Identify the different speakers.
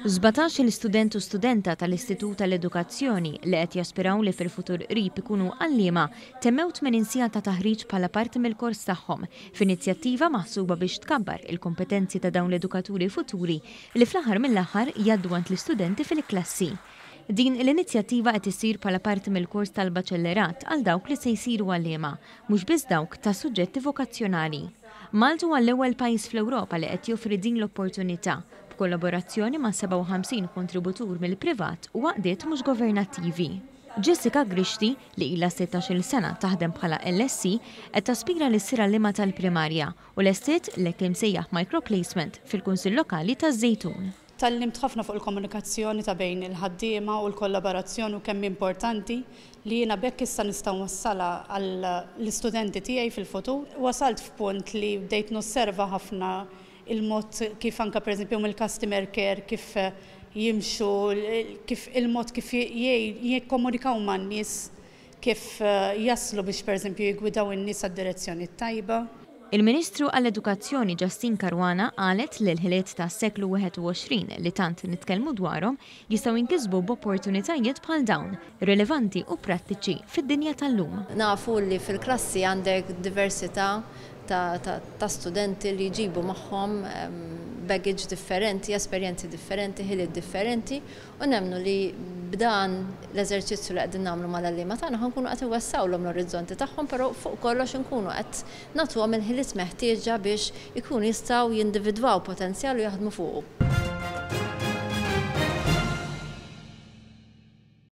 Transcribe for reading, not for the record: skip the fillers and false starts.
Speaker 1: 17-il student u studenta tal-Istitut tal-Edukazzjoni li qed jaspiraw li fil-futur qrib ikunu għalliema temmew 80 siegħa ta' taħriġ bħala parti mill-kors tagħhom f'inizjattiva maħsuba biex tkabbar il-kompetenzi ta' dawn l-edukaturi futuri li fl-aħħar mill-aħħar jgħaddu għand l-istudenti fil-klassi. Din l-inizjattiva qed issir bħala parti mill-kors tal-baċellerat għal dawk li se jsiru għalliema, mhux biss dawk ta' suġġetti vokazzjonali. Malta huwa l-ewwel pajjiż fl-Ewropa li qed joffri din l-opportunità, b'kollaborazzjoni ma' 57 kontributur mill-privat u għaqdiet mhux governattivi. Jessica Grixti, li ilha 16-il sena taħdem bħala LSE, qed taspira li ssir għalliema tal-primarja u lestiet l-hekk imsejjaħ microplacement fil-Kunsill Lokali taż-Żejtun.
Speaker 2: Tgħallimt ħafna fuq il-komunikazzjoni ta' bejn il-ħaddiema u l-kollaborazzjoni u kemm importanti li jiena b'hekk issa nista' nwassalha għall-istudenti tiegħi fil-futur. Wasalt f'punt li bdejt nosserva ħafna il-mod kif anke pereżempju mill-customer care kif jimxu, kif il-mod kif jikkomunikaw man-nies, kif jaslu biex pereżempju jiggwidaw in-nies għad-direzzjoni t-tajba.
Speaker 1: Il-Ministru għall-Edukazzjoni Justyne Caruana qalet li l-ħiliet tas-seklu 21 li tant nitkellmu dwarhom jistgħu jinkisbu b'opportunitajiet bħal dawn, rilevanti u prattiċi fid-dinja tal-lum.
Speaker 3: Nafu li fil-klassi għandek diversità ta' studenti li jġibu magħhom baggage differenti, esperjenzi differenti, ħiliet differenti u nemmnu li b'dan l-eżerċizzju li qegħdin nagħmlu mal-għalliema tagħna ħa nkunu qed iwessgħulhom l-orizzonti tagħhom, però fuq kollox inkunu qed nagħtuhom il-ħiliet meħtieġa biex ikunu jistgħu jindividwaw potenzjal u jaħdmu fuqu.